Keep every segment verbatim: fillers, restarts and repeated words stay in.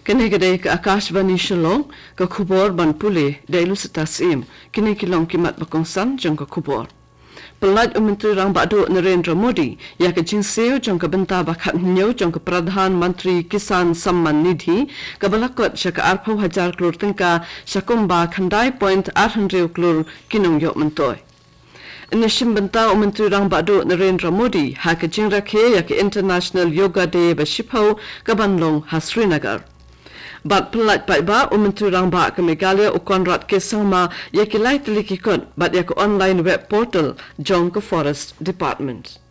Kane ka dei ka Akashvani Shillong, ka khubor ban pule da i Lusita Syiem. Kine ki long ki mat ba kongsan jong ka khubor. Pyllait u Myntri Rangbah Duh Narendra Modi ïa ka jingsiew jong ka bynta ba khathynñiew jong ka Pradhan Mantri Kisan Samman Nidhi, kaba la kot sha ka arphew hajar klur tyngka sha kumba khyndai point ar hynriew klur ki nongïoh myntoi. Yn ïashim bynta u Myntri Rangbah Duh Narendra Modi ha ka jingrakhe ïa ka International Yoga Day ba shiphew, kaban long ha Srinagar. Bad pyllait paidbah u Myntri Rangbah ka Meghalaya u Conrad K Sangma ïa ki lai tylli ki kot bad ïa ka online web portal jong ka Forest Department.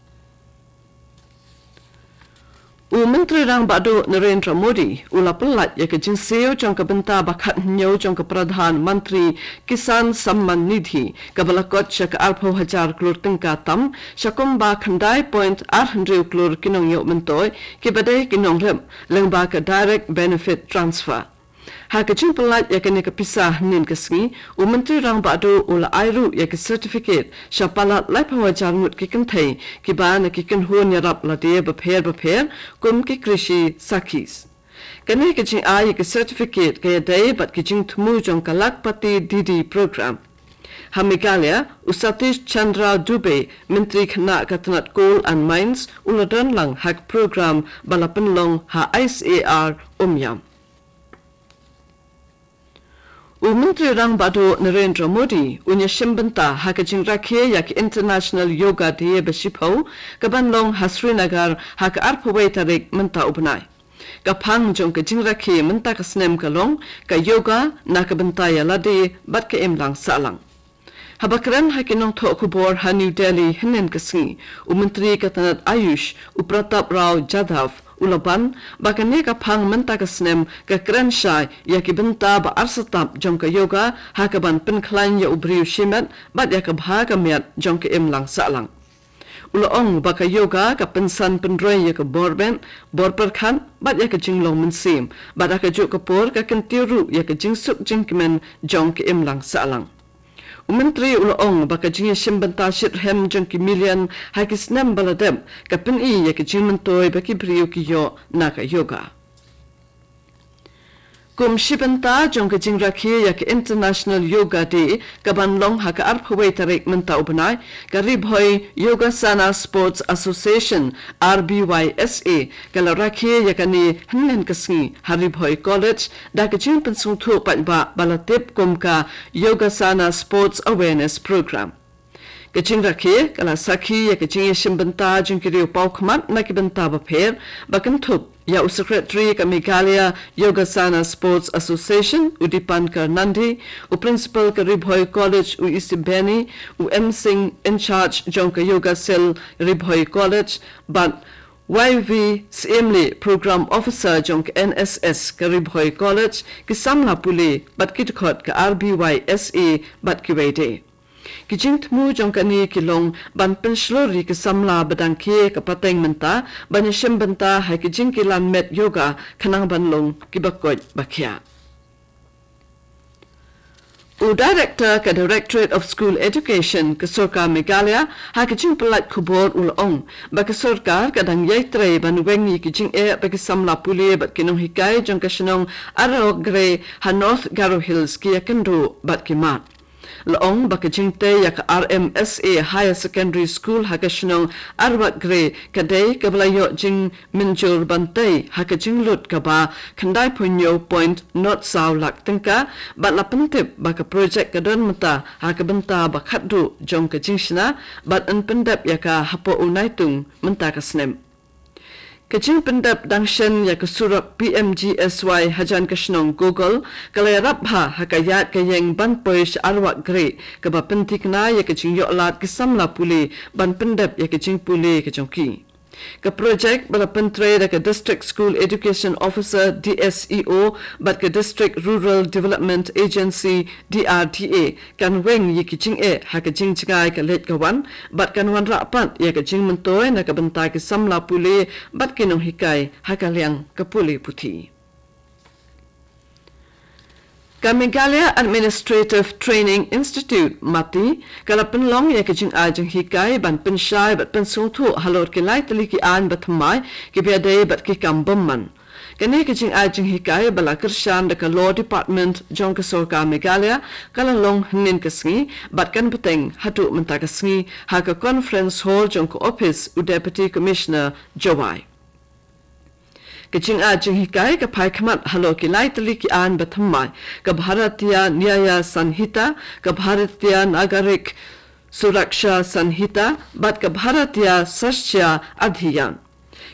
U Myntri Rangbah Duh Narendra Modi u la pyllait ïa ka jingsiew jong ka bynta ba khathynñiew jong ka Pradhan Mantri Kisan Samman Nidhi, kaba la kot sha ka arphew hajar klur tyngka tam sha kumba khyndai point ar hynriew klur ki nongïoh myntoi, kiba dei ki nongrep lyngba ka Direct Benefit Transfer. Ha ka jingpyllait ïa kane ka pisa hynnin ka sngi, u Myntri Rangbah Duh u la ai ruh ïa ki certificate sha palat laiphew hajar ngut ki kynthei kiba na ki kynhun ïarap lade bapher bapher kum ki Krishi Sakhis. Kane ka jingai ïa ki certificate ka ïadei bad ki jingthmu jong ka Lakhpati Didi Program. Ha Meghalaya, u Satish Chandra Dubey, Myntri Khynnah ka tnat Coal and Mines, u la don lang ha ka program ba la pynlong ha I C A R Umiam. U Myntri Rangbah Duh Narendra Modi un ïashim bynta ha ka jingrakhe ïa ka International Yoga Day ba shiphew, kaban long ha Srinagar ha ka arphew wei tarik mynta u bnai. Ka phang jong ka jingrakhe mynta ka snem ka long ka yoga na ka bynta ïa lade bad ka imlang sahlang. Haba kren ha ki nongthoh khubor ha New Delhi hynnin ka sngi, u Myntri ka tnat Ayush, u Pratap Rao Jadhav, u la ban ba kane ka phang mynta ka snem ka kren shai ïa ki bynta ba artatap jong ka yoga, ha kaban pynkhlaiñ ïa u briew shimet bad ïa ka bha ka miat jong ka imlang sahlang. U la ong ba ka yoga ka pynsan pynroi ïa ka bor beit, bor pyrkhat bad ïa ka jinglong mynsiem, bad ha kajuh ka por ka kyntiew ruh ïa ka jingsuk jingkmen jong ka imlang sahlang. U Myntri u la ong ba ka jingïashim bynta shitrhem jong ki million ha ki snem ba la dep ka pyni ïa ka jingmyntoi ba ki briew ki ïoh na ka yoga. Kum shi bynta jong ka jingrakhe ïa ka International Yoga Day, kaban long ha ka arphew wei tarik mynta u bnai, ka Ri Bhoi Yogasana Sports Association, R B Y S A, ka la rakhe ïa kane hynnin ka sngi ha Ri Bhoi College, da ka jingpynsngewthuh paidbah ba la tip kum ka Yogasana Sports Awareness Program. Ka jingrakhe ka la sakhi ïa ka jingïashim bynta jong ki riew paw khmat na ki bynta bapher, ba kynthup ïa u Secretary ka Meghalaya Yogasana Sports Association, u Dipankar Nandi, u Principal ka Ri Bhoi College, u Isi Beni, u M Singh, in charge jong ka Yoga Cell Ri Bhoi College, bad Y V Siemlieh, Program Officer jong ka N S S ka Ri Bhoi College, ki samla pule bad ki dkhot ka R B Y S A bad kiwei de. Ki jingthmu jong kane ki long ban pynshlur ïa ki samla ba dang khie ka pateng mynta ban ïashim bynta ha ki jingkilan met yoga, khnang ban long kiba koit ba khiah. U Director ka Directorate of School Education ka Sorkar Meghalaya ha ka jingpyllait khubor u la ong ba ka sorkar ka dang ïai trei ban weng ïa ki jingeh ba ki samla pule bad ki nonghikai jong ka shnong Arwakgre ha North Garo Hills ki ïakynduh bad ki mad. La ong ba ka jingtei ïa ka R M S A Higher Secondary School ha ka shnong Arwakgre ka dei kaba la ïoh jingmynjur ban tei ha ka jinglut kaba khyndai phew hynñiew point nod saw lak tyngka, bad la pyntip ba ka projek ka don mynta ha ka bynta ba khatduh jong ka jingshna, bad yn pyndep ïa ka hapoh u Naitung mynta ka snem. Ka jingpyndep dang shen ïa ka surok P M G S Y hajan ka shnong Gogol ka la ïarap bha ha ka ïaid ka ïeng ban poi sha Arwakgre, kaba pynthikna ïa ka jingïoh lad ki samla pule ban pyndep ïa ka jingpule ka jong ki. Ka projek ba la pyntrei da ka District School Education Officer, D S E O, bad ka District Rural Development Agency, D R D A, kan weng ïa ki jingeh ha ka jingjngai ka leit ka wan, bad kan wanrah pat ïa ka jingmyntoi na ka bynta ki samla pule bad ki nonghikai ha ka liang ka pule puthi. Ka Meghalaya Administrative Training Institute, MATI, ka la pynlong ïa ka jingai jinghikai ban pynshai bad pynsngewthuh halor ki lai tylli ki aiñ ba thymmai kiba ïadei bad ki kam bymman. Kane ka jingai jinghikai ba la kyrshan da ka Law Department jong ka Sorkar Meghalaya ka la long hynnin ka sngi bad kan bteng haduh mynta ka sngi ha ka Conference Hall jong ka ophis u Deputy Commissioner Jowai. Ka jingai jinghikai ka phai khmat halor ki lai tylli ki aiñ ba thymmai, ka Bharatiya Nyaya Sanhita, ka Bharatiya Nagarik Suraksha Sanhita bad ka Bharatiya Sasthya Adhiyan.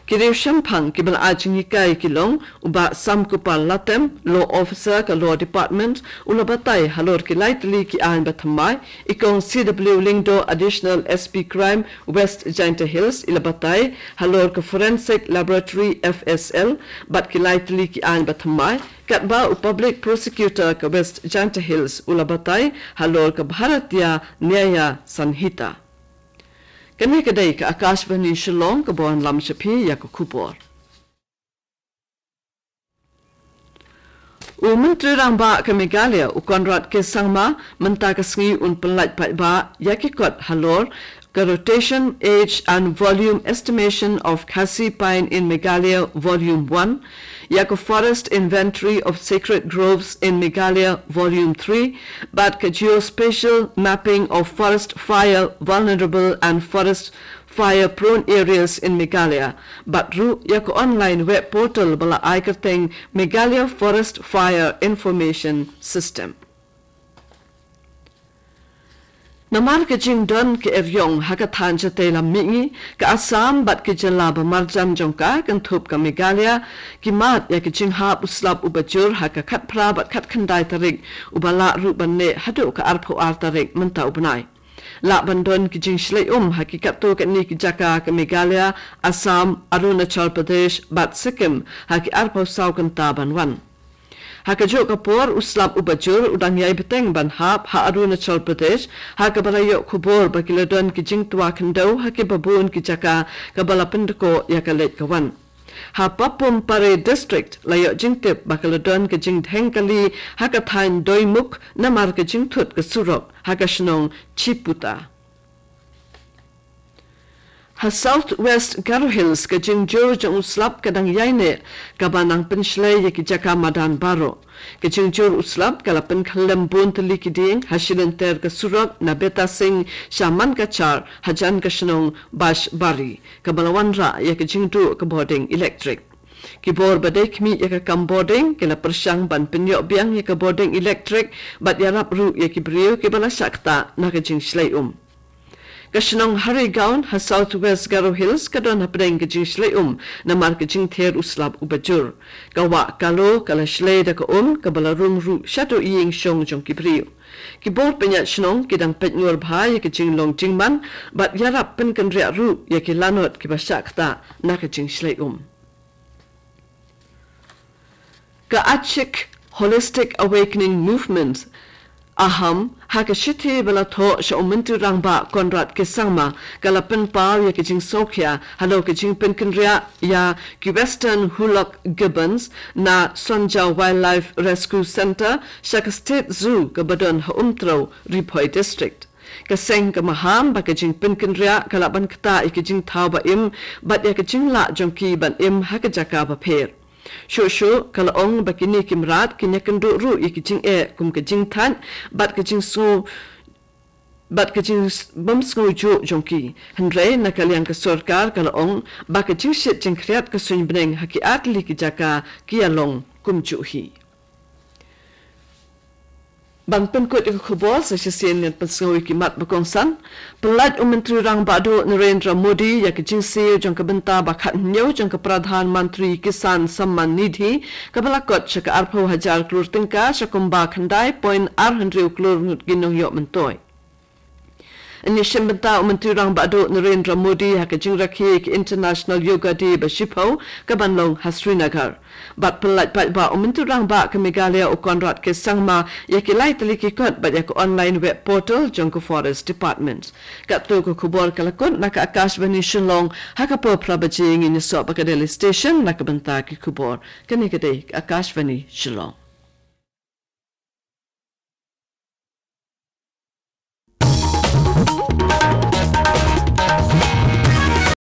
Ki riewshemphang kiba la ai jinghikai ki long u Bah Samkupal Latem, Law Officer ka Law Department, u la batai halor ki lai tylli ki aiñ ba thymmai, i Kong C W Lyngdoh, Additional S P Crime, West Jaintia Hills, i la batai halor ka Forensic Laboratory, F S L, bad ki lai tylli ki aiñ ba thymmai, katba u Public Prosecutor ka West Jaintia Hills u la batai halor ka Bharatiya Nyaya Sanhita. Kane ka dei ka Akashvani Shillong kaba wanlam sha phi ïa ka khubor. U Myntri Rangbah ka Meghalaya u Conrad K Sangma mynta ka sngi un pynlait paidbah ïa ki kot halor ka Rotation, Age and Volume Estimation of Khasi Pine in Meghalaya Volume one, ïa ka Forest Inventory of Sacred Groves in Meghalaya Volume three, bad ka Geospatial Mapping of Forest Fire Vulnerable and Forest Fire Prone Areas in Meghalaya, bad ruh ïa ka online web portal ba la ai kyrteng Meghalaya Forest Fire Information System. Namar ka jingdon ka eriong ha ka thaiñ shatei lam mihngi, ka Assam bad ki jylla ba marjan jong ka kynthup ka Meghalaya ki mad ïa ka jinghap u slap uba jur ha ka khatphra bad khatkhyndai tarik, uba lah ruh ban neh haduh ka arphew ar tarik mynta u bnai. Lah ban don ki jingshlei um ha ki katto katne ki jaka ka Meghalaya, Assam, Arunachal Pradesh bad Sikkim ha ki arphew saw kynta ban wan. Ha kajuh ka por u slap uba jur u dang ïai bteng ban hap ha Arunachal Pradesh, ha kaba la ïoh khubor ba ki la don ki jingtwa khyndew ha kiba bun ki jaka, kaba la pyndkoh ïa ka leit ka wan. Ha Papum Pare District la ïoh jingtip ba ka la don ka jingdheng kali ha ka thaiñ Doimukh namar ka jingthut ka surok ha ka shnong Chiputa. Ha South West Garo Hills ka jingjur jong u slap ka dang ïai neh, kaba nang pynshlei ïa ki jaka madan baroh. Ka jingjur u slap ka la pynkhyllem bun tylli ki dieng ha shilynter ka surok na Betasing sha Mankachar hajan ka shnong Bashbari, kaba la wanrah ïa ka jingduh ka bording elektrik. Ki bor ba dei khmih ïa ka kam bording ki la pyrshang ban pynïoh biang ïa ka bording elektrik bad ïarap ruh ïa ki briew kiba la shah ktah na ka jingshlei um. Ka shnong Harigaon ha South West Garo Hills ka don hapdeng ka jingshlei um namar ka jingther u slap uba jur. Ka wah Kalo ka la shlei da ka um kaba la rung ruh shaduh ïing shong jong ki briew. Ki bor pynïaid shnong ki dang peit ngor bha ïa ka jinglong jingman bad ïarap pynkynriah ruh ïa ki lanot kiba shah ktah na ka jingshlei um. Ka Achik Holistic Awakening Movement, AHAM, ha ka shithi ba la thoh sha u Myntri Rangbah Conrad K Sangma ka la pynpaw ïa ka jingsngewkhia halor ka jingpynkynriah ïa ki Western Hulock Gibbons na Sonja Wildlife Rescue Centre sha ka State Zoo kaba don ha Umtrew, Ri Bhoi District. Ka seng ka maham ba ka jingpynkynriah ka lah ban ktah ïa ka jingthaw ba im bad ïa ka jinglah jong ki ban im ha ka jaka bapher. Shuh shuh ka la ong ba kine ki mrad kin ïakynduh ruh ïa ki jingeh kum ka jingthait bad ka jingsngew bad ka jingbymsngewjuh jong ki. Hynrei na ka liang ka sorkar ka la ong ba ka jingshit jingkhriat ka suiñbneng ha ki artylli ki jaka ki ïalong kumjuh hi. Ban pynkut ïa ka khubor sa shisien ngan pynsngew ïa ki mat ba kongsan. Pynlait u Myntri Rangbah Duh Narendra Modi ïa ka jingsiew jong ka bynta ba khathynñiew jong ka Pradhan Mantri Kisan Samman Nidhi kaba la kot sha ka arphew hajar klur tyngka sha kumba khyndai point ar hynriew klur ngut ki nongïoh myntoi. Yn ïashim bynta u Myntri Rangbah Duh Narendra Modi ha ka jingrakhe ïa ka International Yoga Day ba shiphew kaban long ha Srinagar. Bad pynlait paidbah u Myntri Rangbah ka Meghalaya u Conrad K Sangma ïa ki lai tylli ki kot bad ïa ka online web portal jong ka Forest Department. Katto ka khubor ka la kut na ka Akashvani Shillong, ha ka por phra baje ngin ïasoh bad ka Delhi Station na ka bynta ki khubor. Kane ka dei ka Akashvani Shillong.